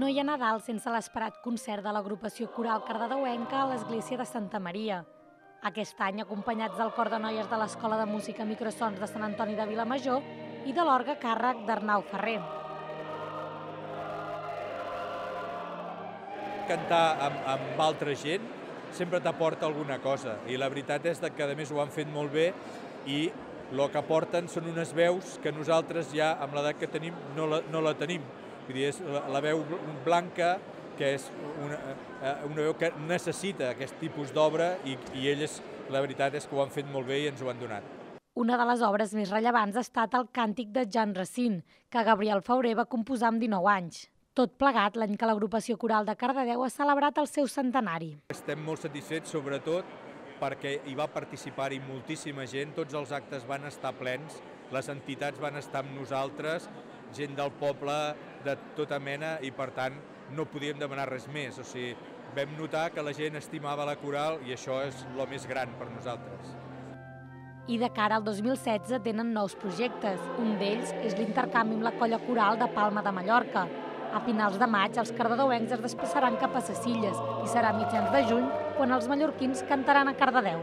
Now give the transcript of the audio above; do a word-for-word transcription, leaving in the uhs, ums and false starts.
No hi ha Nadal sense l'esperat concert de l'agrupació coral cardedeuenca a l'església de Santa Maria. Aquest any, acompanyats del cor de noies de l'Escola de Música Microsons de Sant Antoni de Vilamajor i de l'orgue a càrrec d'Arnau Ferrer. Cantar amb, amb altra gent sempre t'aporta alguna cosa i la veritat és que a més ho han fet molt bé i el que aporten són unes veus que nosaltres ja amb l'edat que tenim no la, no la tenim. Vull dir, és la, la veu blanca, que és una, una veu que necessita aquest tipus d'obra i, i elles, la veritat és que ho han fet molt bé i ens ho han donat. Una de les obres més rellevants ha estat el Càntic de Jan Racine, que Gabriel Fauré va composar amb dinou anys. Tot plegat l'any que l'agrupació coral de Cardedeu ha celebrat el seu centenari. Estem molt satisfets, sobretot, perquè hi va participar-hi moltíssima gent, tots els actes van estar plens, les entitats van estar amb nosaltres, gent del poble de tota mena i, per tant, no podíem demanar res més. O sigui, vam notar que la gent estimava la coral i això és el més gran per nosaltres. I de cara al dos mil setze tenen nous projectes. Un d'ells és l'intercanvi amb la colla coral de Palma de Mallorca. A finals de maig, els cardedeuencs es desplaçaran cap a Cecilles i serà a mitjans de juny quan els mallorquins cantaran a Cardedeu.